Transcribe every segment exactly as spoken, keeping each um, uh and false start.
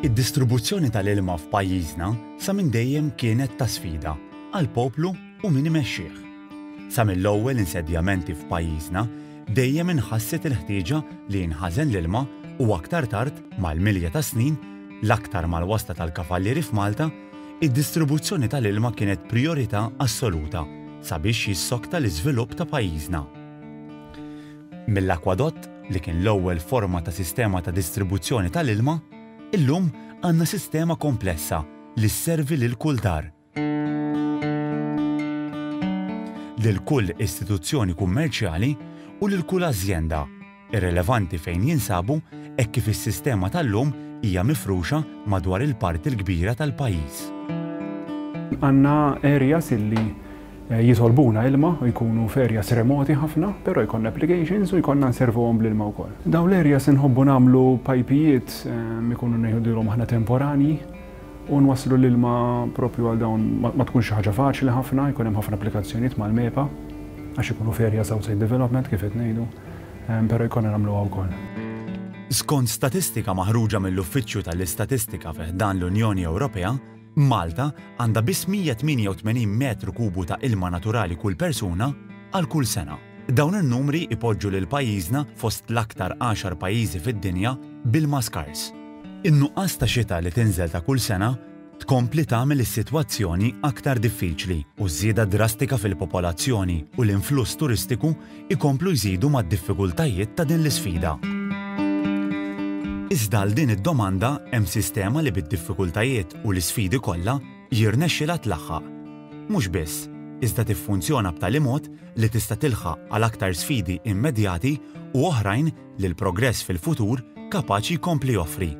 Id-distribuzzjoni tal-ilma f'pajjiżna sa minn dejjem kienet ta' sfida għall-poplu u min imexxih. Sa mill-ewwel insedjamenti f'pajjiżna dejjem inħasset il-ħtieġa li jinħażen l-ilma u aktar tard, mal-milja ta' snin, l-aktar mal-wasla tal-kavallieri f'Malta, id-distribuzzjoni tal-ilma kienet priorità assoluta sabiex jissokta l-iżvilupp ta' pajjiżna. Mill-akwadott, li kien l-ewwel forma ta' sistema ta' distribuzzjoni tal-ilma, illum għandna sistema komplessa li sservi lil kull dar, lil kull istituzzjoni kummerċjali u lil kull azjenda, irrelevanti fejn jinsabu, hekk kif is-sistema tal-lum hija mifruxa madwar il-parti l-kbira tal-pajjiż. Għandna areas illi jitolbuna ilma u jkunu f'areas remoti ħafna, però jkollna applications u jkollna nservuhom bl-ilma wkoll. Dawn l-areas inħobbu nagħmlu pajpijiet, ikunu ngħidulhom aħna temporani, u nwasslu l-ilma propju għal dawn. Ma tkunx xi ħaġa faċli ħafna, jkun hemm ħafna applikazzjonijiet mal-MEPA għax ikunu f'areas outside development, kif qed ngħidu, però jkollna nagħmluha wkoll. Skont statistika maħruġa mill-Uffiċċju tal-Istatistika fi ħdan l-Unjoni Ewropea, Malta għandha biss mija tmienja u tmenin metru kubu ta' ilma naturali kull persuna għal kull sena. Dawn in-numri ipoġġu lil pajjiżna fost l-aktar għaxar pajjiżi fid-dinja b'ilma skars. In-nuqqas ta' xita li tinżel ta' kull sena tkompli tagħmel is-sitwazzjoni aktar diffiċli u żieda drastika fil-popolazzjoni u l-influss turistiku ikomplu jżidu mad-diffikultajiet ta' din l-isfida. Iżda għal din id-domanda hemm sistema li bid-diffikultajiet u l-isfidi kollha jirnexxilha tlaħħaq. Mhux biss, iżda tiffunzjona b'tali mod li tista' tilħaq għal aktar sfidi immedjati u oħrajn li l-progress fil-futur kapaċi jkompli joffri.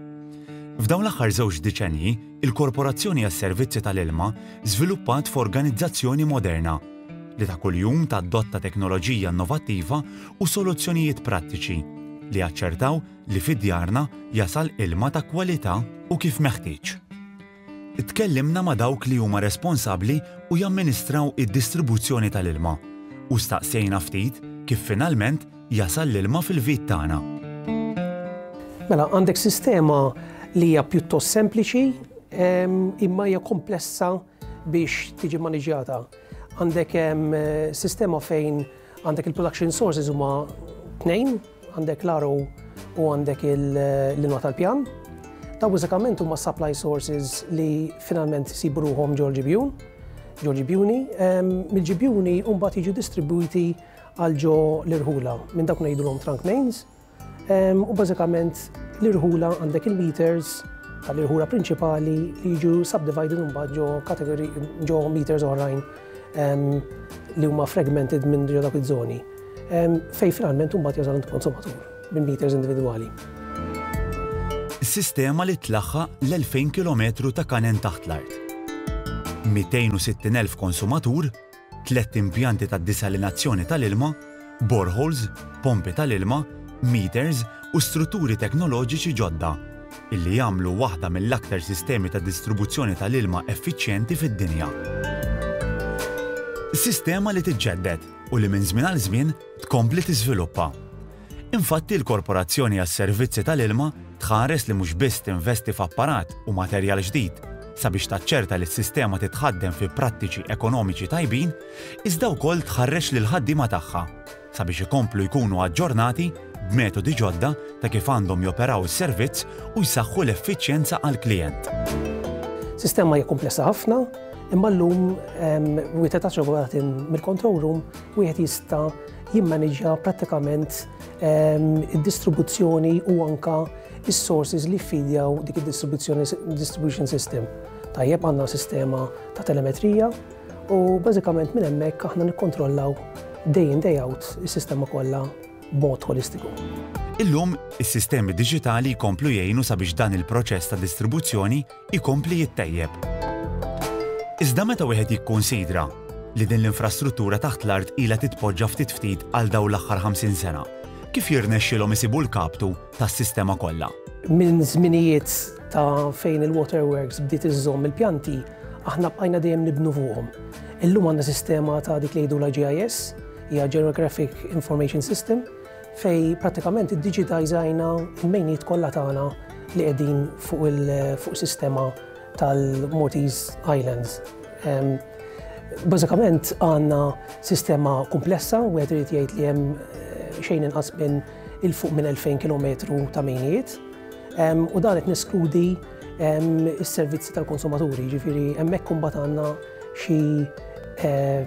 F'dawn l-aħħar żewġ diċenji, il-Korporazzjoni għas-Servizzi tal-Ilma żviluppat f'organizzazzjoni moderna li ta' kuljum tadotta teknoloġija innovattiva u soluzzjonijiet prattiċi li jaċċertaw li fid-djarna jasal ilma ta' kwalità u kif meħtieġ. Tkellimna ma' dawk li huma responsabbli u jamministraw id-distribuzzjoni tal-ilma u staqsejna ftit kif finalment jasal l-ilma fil-vit tagħna. Mela, għandek sistema li hija pjuttost sempliċi imma hija komplessa biex tiġi maniġjata. Għandek sistema fejn għandek il-production sources huma tnejn, għandek l-R O u għandek l-ilma tal-pjan. Ta' bażikament huma supply sources li finalment isibu ruħhom ġol-ġibjun, ġol-ġibjuni. Mill-ġibjuni mbagħad jiġu distribuiti għal ġo l-irħula minn dak ngħidulhom trunk mains. U bażikament l-irħula għandek il-meters tal-irħula prinċipali li jiġu subdivided mbagħad ġo kategori, ġo meters oħrajn li huma fragmented minn ġo dak iż-żoni, fejn finalment mbagħad jasal konsumatur minn meters individwali. Sistema li tlaħħaq l-elfejn kilometru ta' kanen taħt l-art, mitejn u sittin elf konsumatur, tliet impjanti ta' disalinazzjoni tal-ilma, boreholes, pompi tal-ilma, meters u strutturi teknoloġiċi ġodda illi jagħmlu waħda mill-aktar sistemi ta' distribuzzjoni tal-ilma effiċjenti fid-dinja. Sistema li tiġġedded u li minn żmien għal żmien tkompli tiżviluppa. Infatti, l-Korporazzjoni għas-Servizzi tal-Ilma tħares li mhux biss tinvesti f'apparat u materjal ġdid sabiex taċċerta li s-sistema titħaddem fi prattiċi ekonomiċi tajbin, iżda wkoll tħarreġ lil ħaddiema tagħha sabiex ikomplu jkunu aġġornati b'metodi ġodda ta' kif għandhom joperaw is-servizz u jsaħħu l-effiċjenza għall-klijent. Sistema hija komplessa ħafna, imma llum wieħed taċ mill-control room wieħed jista' jimmaneġġja prattikament id-distribuzzjoni u anka is-sources li ffidjaw dik id-distribuzzjoni, distribution system. Tajjeb, għandna sistema ta' telemetrija u bażikament minn hemmhekk aħna nikkontrollaw day in, day out is-sistema kollha b'mod holistiku. Illum, is-sistemi diġitali jkomplu jgħinu sabiex dan il-proċess ta' distribuzzjoni jkompli jittejjeb. Iżda meta wieħed jikkonsidra li din l-infrastruttura taħt l-art ilha titpoġġa ftit ftit għal dawn l-aħħar ħamsin sena, kif jirnexxilhom isibu l-kaptu tas-sistema kollha? Minn żminijiet ta' fejn il-waterworks bdiet iżżomm il-pjanti, aħna bqajna dejjem nibnu fuqhom. Illum għandna sistema ta' dik li jgħidu la G I S, hija Geographic Information System, fejn prattikament iddiġitalizzajna il-mejnijiet kollha tagħna. li qegħdin fuq il fuq sistema tal-Maltese Islands. Um, Bażikament għandna sistema komplessa, u għed irid jgħid li hemm eh, xejn inqas minn 'il fuq minn elfejn kilometru ta' mejnijiet. Um, u dan qed neskludi um, is-servizzi tal-konsumaturi, ġifieri hemmhekk imbagħad għandna xi eh,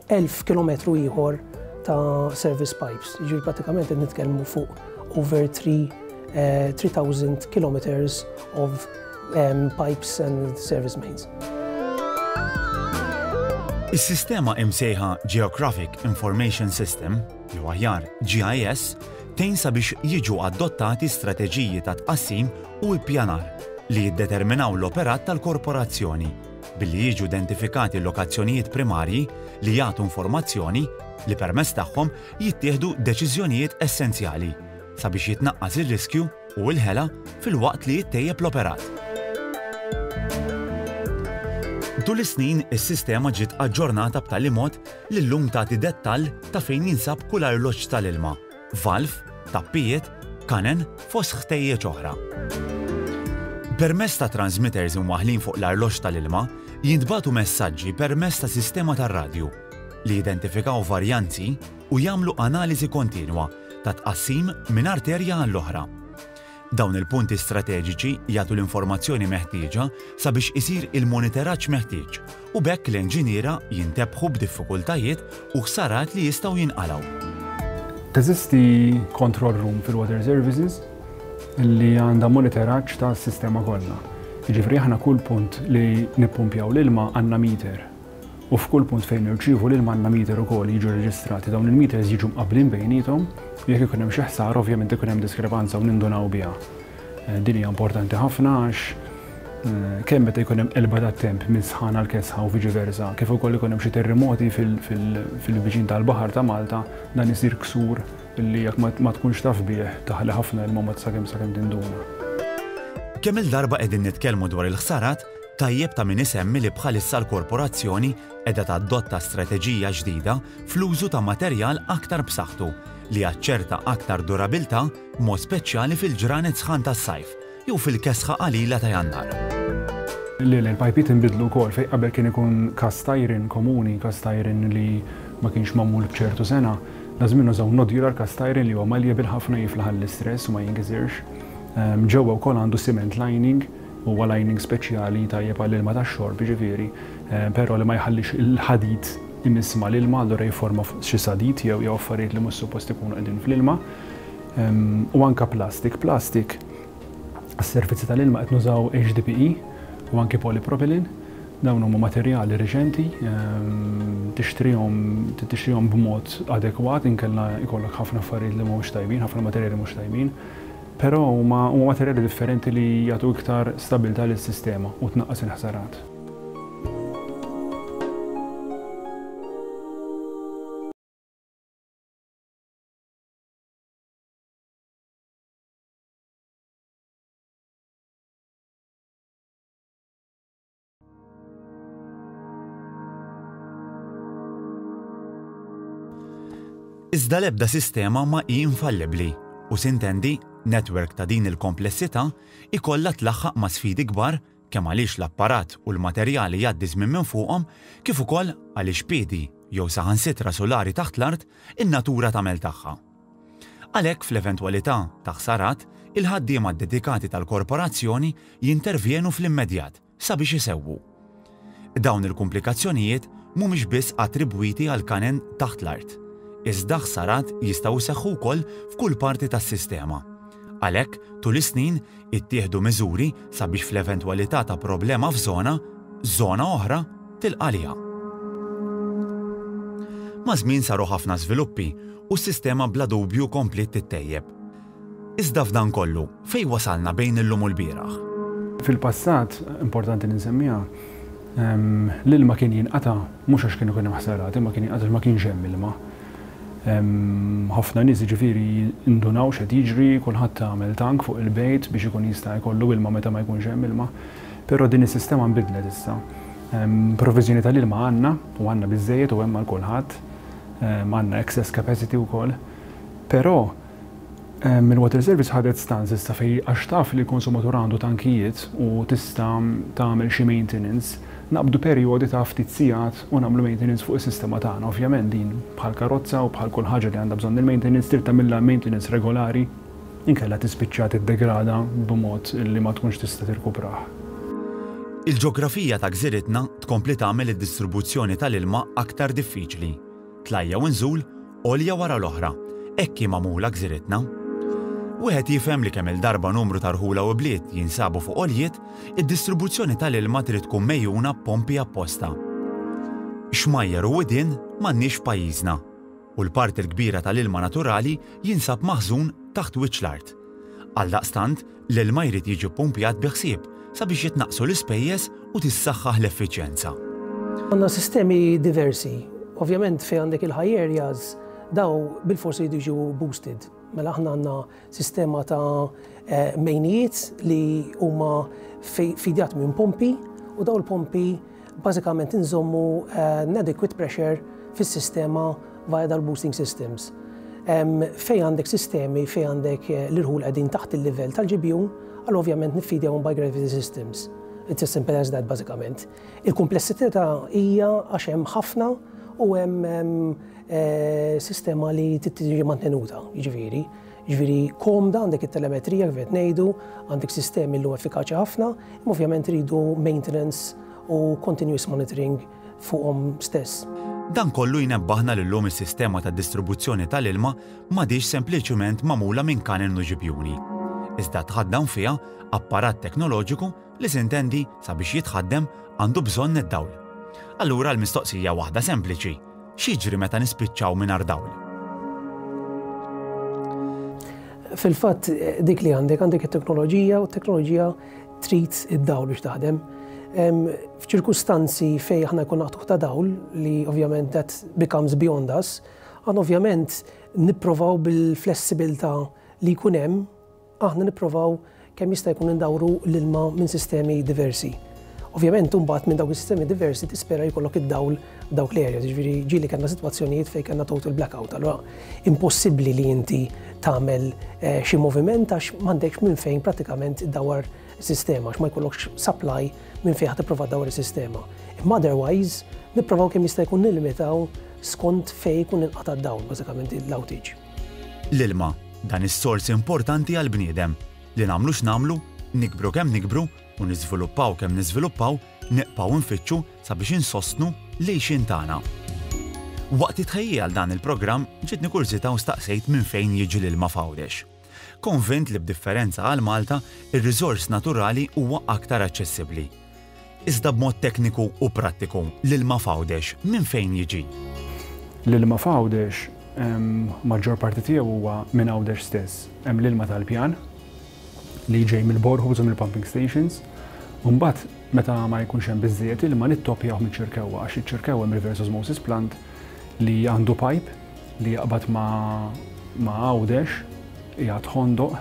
elf kilometru ieħor ta' service pipes. Ġifieri pratikament qed nitkellmu fuq over three, uh, three thousand kilometers of um, pipes and service mains. Is-sistema imsejħa Geographic Information System, jew aħjar G I S, tgħin sabiex jiġu adottati strateġiji ta' tqassim u ippjanar li jiddeterminaw l-operat tal-korporazzjoni billi jiġu identifikati lokazzjonijiet primarji li jagħtu informazzjoni li permezz tagħhom jittieħdu deċiżjonijiet essenzjali sabiex jitnaqqas ir-riskju u l-ħela filwaqt li jittejjeb l-operat. Tul is-snin is-sistema ġiet aġġornata b'tali mod li llum tagħti dettall ta' fejn jinsab kull arloġġ tal-ilma, valv, tappijiet, kanen, fost ħtejjeġ oħra. Permezz ta' transmitters imwaħlin fuq l-arloġġ tal-ilma, jintbagħtu messaġġi permezz ta' sistema tar-radju li jidentifikaw varjanzi u jagħmlu analiżi kontinwa ta' tqassim minn arterja għall-oħra. Dawn il-punti strateġiċi jagħtu l-informazzjoni meħtieġa sabiex isir il-monitoraġġ meħtieġ u b'hekk l-inġiniera jintebħu b'diffikultajiet u ħsarat li jistgħu jinqalgħu. Teżisti control room fil-Water Services li għandha monitoraġġ ta' sistema kollha. Jiġifieri aħna kull punt li nippumpjaw l-ilma għandna meter. U f'kull punt fejn nirċievu l-ilma għandna meter ukoll jiġu reġistrati. Dawn il-meters jiġu mqablin bejniethom u jekk ikun hemm xi ħsara, ovvjament ikun hemm diskrepanza u nindunaw biha. Eh, din hija importanti ħafna għax eh, kemm meta jkun hemm qelba tat-temp minn sħana għal kesħa u viċi versa, kif ukoll ikun hemm xi terremoti fil-viċin tal-baħar ta' Malta, dan isir ksur illi jekk ma tkunx taf bih taħli ħafna ilma ma sakemm sakemm tinduna. Kemm il-darba qegħdin nitkellmu dwar il-ħsarat, tajjeb ta' min isemmi li bħalissa l-korporazzjoni qiegħda tadotta strateġija ġdida fl-użu ta' materjal aktar b'saħħtu li jaċċerta aktar durabilità, mod speċjali fil-ġranet sħan tas-sajf jew fil-kesħa qalila ta' Jannar. Li l-pajpiet inbidlu wkoll. Fejn qabel kien ikun cast iron komuni, cast iron li ma kienx magħmul b'ċertu sengħa, daż-żmien użaw nodular cast iron li huwa malleable ħafna, jiflaħ l-istress u ma jinkisirx. Ehm, ġewwa wkoll għandu cement lining, huwa lining speċjali tajjeb għall-ilma tax-xorb, ġifieri, ehm, però li ma jħallix il-ħadid imiss mal-ilma, allura jiforma xi sadid jew jew affarijiet li mhux suppost ikunu qegħdin fl-ilma. Ehm, u anka plastik, plastik għas-servizzi tal-ilma qed nużaw H D P E u anki polypropylene. Dawn huma materjali reċenti, ehm, tixtrihom tixtrihom b'mod adekwat, inkella jkollok ħafna affarijiet li mhux tajbin, ħafna materjali mhux tajbin. Però huma huma materjali differenti li jagħtu iktar stabilità lis-sistema u tnaqqas il-ħsarat. Iżda l-ebda sistema ma hi infallibbli u, sintendi, network ta' din il-komplessità ikollha tlaħħaq ma' sfidi kbar, kemm għaliex l-apparat u l-materjali jgħaddi żmien minn fuqhom, kif ukoll għaliex piedi jew saħansitra sulari taħt l-art in-natura tagħmel tagħha. Għalhekk, fl-eventwalità ta' ħsarat, il-ħaddiema dedikati tal-korporazzjoni jintervjenu fl-immedjat sabiex isewwu. Dawn il-komplikazzjonijiet mhumiex biss attribwiti għal kanen taħt l-art. Iżda ħsarat jistgħu jseħħu wkoll f'kull parti tas-sistema. Għalhekk, tul is-snin ittieħdu miżuri sabiex fl-eventwalità ta' problema f'żona, żona oħra tilqa' għaliha. Maż-żmien saru ħafna żviluppi u s-sistema bla dubju kompliet tittejjeb. Iżda f'dan kollu, fej wasalna bejn illum u l-bieraħ? Fil-passat, importanti li nsemmiha, ehm, l-ilma kien jinqata mhux għax kienu kienu ħsarat, imma kien jinqata ma kienx hemm ilma. Ehm, ħafna nies, ġifieri, indunaw x'qed jiġri, kulħadd għamel tank fuq il-bejt biex ikun jista' jkollu ilma meta ma jkunx hemm ilma. Però din is-sistema nbidlet issa. Ehm, Provviżjoni tal-ilma għandna u għandna biżejjed u hemm għal kulħadd. Għandna excess capacity wkoll. Però Il-Water Service ħadet stance issa fej għax taf li l-konsumatur għandu tankijiet u tista' tagħmel xi maintenance, naqbdu perjodi ta' ftit sigħat u nagħmlu maintenance fuq is-sistema tagħna. Ovvjament din bħal karozza u bħal kull ħaġa li għandha bżonn il-maintenance, trid tagħmilha maintenance regolari, inkella tispiċċa tiddegrada b'mod li ma tkunx tista' tirkuprah. Il-ġeografija ta' gżiritna tkompli tagħmel id-distribuzzjoni tal-ilma aktar diffiċli. Tlajja u nżul, għolja wara l-oħra. Hekk hi magħmula gżiritna. Wieħed jifhem li kemm il-darba numru ta' rħula u bliet jinsabu fuq għoljiet, id-distribuzzjoni tal-ilma trid tkun megħjuna b'pompi apposta. Xmajjar u widien m'għandniex f'pajjiżna u l-parti l-kbira tal-ilma naturali jinsab maħżun taħt wiċċ l-art. Għaldaqstant, l-ilma jrid jiġi ppumpjat bi ħsieb sabiex jitnaqsu l-ispejjeż u tissaħħaħ l-effiċjenza. Għandna sistemi diversi. Ovvjament fejn għandek il-high areas, daw bilforsi jridu jiġu boosted. Mela aħna għandna sistema ta' eh, mejnijiet li huma fidjat minn pompi u daw il-pompi bażikament inżommu eh, adequate pressure fis-sistema via dal-boosting systems. Fej għandek sistemi, fej għandek eh, l-irħul qegħdin taħt il-livell tal-ġibjun, għal ovvjament niffidjawhom by gravity systems. It's as simple as that, bażikament. Il-komplessità hija għax hemm ħafna u hemm eh, sistema li tiġi mantenuta, jiġifieri. Jiġifieri komda, għandek it-telemetrija kif qed ngħidu, għandek sistemi li effikaċi ħafna, imma ovvjament ridu maintenance u continuous monitoring fuqhom stess. Dan kollu jnebbaħna li llum is-sistema ta' distribuzzjoni tal-ilma m'għadix sempliċement magħmula minn kanen u ġibjuni. Iżda tħaddan fiha apparat teknoloġiku li, sintendi, sabiex jitħaddem għandu bżonn id-dawl. Allura l-mistoqsija waħda sempliċi: x'jiġri meta nispiċċaw mingħajr dawl? Fil-fatt dik li għandek, għandek it-teknoloġija u t-teknoloġija trid id-dawl biex taħdem. F'ċirkustanzi fej aħna jkun naqtuħ ta' dawl, li ovvjament that becomes beyond us, għan ovvjament nipprovaw bil-flessibilità li jkun hemm, aħna nipprovaw kemm jista' jkun indawru l-ilma minn sistemi diversi. Ovvjament, imbagħad minn dawk is-sistemi diversi tispera jkollok id-dawl dawk l-areas, jiġifieri ġieli kellna sitwazzjonijiet fejn kellna total blackout, allura impossibbli li inti tagħmel eh, xi moviment għax m'għandekx minn fejn prattikament iddawar sistema, għax ma jkollokx supply minn fejn ħa tipprova ddawar is-sistema. Imma otherwise, nipprovaw kemm jista' jkun nillimitaw skont fejn jkun inqata' d-dawl, bażikament l-outage. L-ilma, dan is-sors importanti għall-bniedem li nagħmlu x'nagħmlu, nikbru kemm nikbru u niżviluppaw kemm niżviluppaw, nibqgħu nfittxu sabiex insostnu l-għixien tagħna. Waqt it-tħejjija għal dan il-programm ġietni kurżità u staqsejt minn fejn jiġi l-ilma f'Għawdex. Konvint li b'differenza għal Malta, ir-riżors naturali huwa aktar aċċessibbli. Iżda b'mod tekniku u prattiku, l-ilma f'Għawdex minn fejn jiġi? L-ilma f'Għawdex maġġor parti tiegħu huwa minn Għawdex stess. Hemm l-ilma tal-pjan li ġej mill-boreholes u mill-pumping stations. U mbagħad meta ma jkunx hemm biżżejjed ilma nittopjaw mill-Ċirkewwa, għax iċ-Ċirkewwa hemm reverse osmosis plant li għandu pipe li jaqbad ma' ma' Għawdex, jgħad Ħondoq,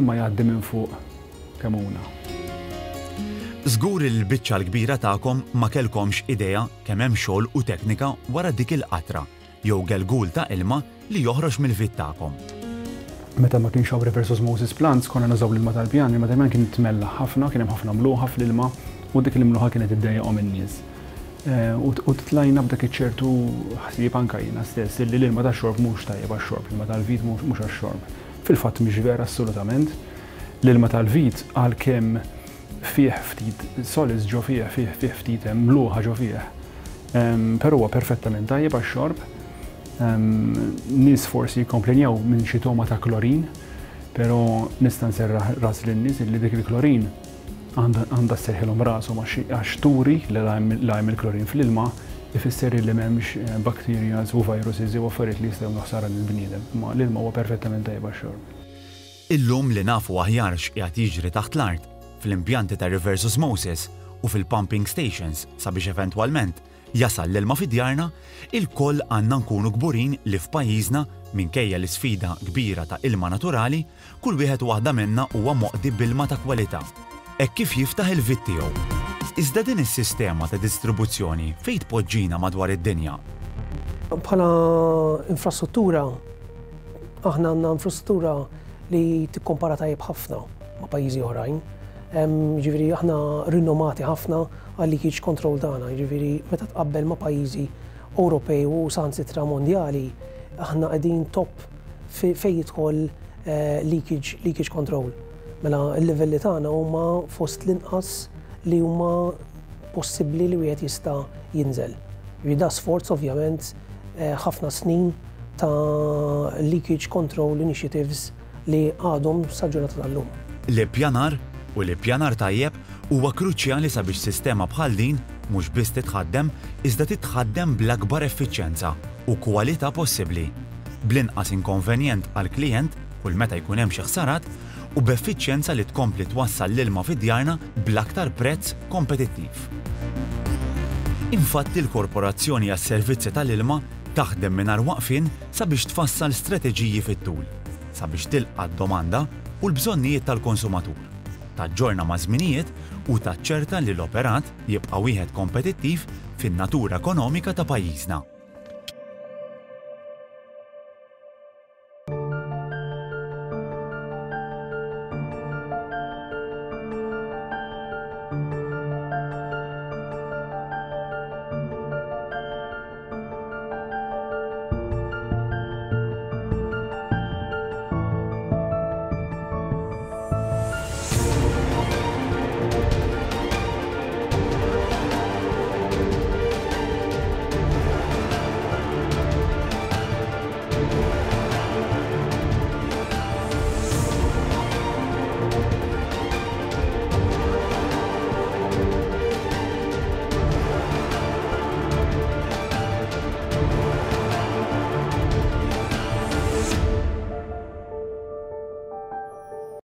imma jgħaddi minn fuq Kemmuna. Żgur li l-biċċa l-kbira tagħkom ma kellkomx idea kemm hemm xogħol u teknika wara dik il-qatra jew gelgul ta' ilma li joħroġ mill-vit tagħkom. Meta ma kienx hawn reverse osmosis plants, konna nużaw l-ilma tal-pjan, l-ilma tal-pjan kien tmella ħafna, kien hemm ħafna mluħa fl-ilma u dik il-mluħa kienet iddejjaqhom in-nies. Eh, u tlajna b'dak iċ-ċertu ħsieb, anka jiena stess, li l-ilma tax-xorb mhux tajjeb għax-xorb, l-ilma tal-vit mhux għax-xorb. Fil-fatt mhix vera assolutament. L-ilma tal-vit, għalkemm fih ftit solids ġo fih, fih fih ftit mluħa ġo fih. Però huwa perfettament tajjeb għax-xorb. Nies forsi jikkomplenjaw minn xi toma ta' klorin, però nista' nserraħ ras lin-nies li dik il-klorin għandha sserħilhom rashom, għax turi li la hemm il-klorin fl-ilma ifisser li m'hemmx eh, bacteria u viruses u affarijiet li jistgħu ħsara lill-bniedem. Ma l-ilma huwa perfettament tajjeb għax-xorb. Illum li nafu aħjar x'qiegħed jiġri taħt l-art, fl-impjanti ta' reverse osmosis u fil-pumping stations sabiex eventwalment jasal l-ilma fi djarna, ilkoll għandna nkunu kburin li f'pajjiżna, minkejja l-isfida kbira ta' ilma naturali, kull wieħed u waħda minna huwa moqdi b'ilma ta' kwalità hekk kif jiftaħ il-vit tiegħu. Iżda din is-sistema ta' distribuzzjoni fejn tpoġġina madwar id-dinja? Bħala infrastruttura, aħna għandna infrastruttura li tikkompara tajjeb ħafna ma' pajjiżi oħrajn. Ġifieri aħna rinomati ħafna għal leakage control tagħna, ġifieri meta tqabbel ma' pajjiżi Ewropej u saħansitra mondjali, aħna qegħdin top fejn jidħol eh, leakage, leakage control. Mela l-livelli tagħna huma fost l-inqas li huma possibbli li wieħed jista' jinżel. Ġifieri da sforz, ovvjament, eh, ħafna snin ta' leakage control initiatives li għadhom sa ġurnata tal-lum. L-ippjanar u l-ippjanar tajjeb huwa kruċjali sabiex sistema bħal din mhux biss titħaddem, iżda titħaddem bl-akbar effiċjenza u kwalità possibbli, bl-inqas inkonvenjent għall-klijent kull meta jkun hemm xi ħsarat u b'effiċjenza li tkompli twassal l-ilma fi djarna bl-aktar prezz kompetittiv. Infatti, l-Korporazzjoni għas-Servizzi tal-Ilma taħdem mingħajr waqfien sabiex tfassal strateġiji fit-tul, sabiex tilqa' d-domanda u l-bżonnijiet tal-konsumatur, taġġorna maż-żminijiet u taċċerta li l-operat jibqa' wieħed kompetittiv fin-natura ekonomika ta' pajjiżna.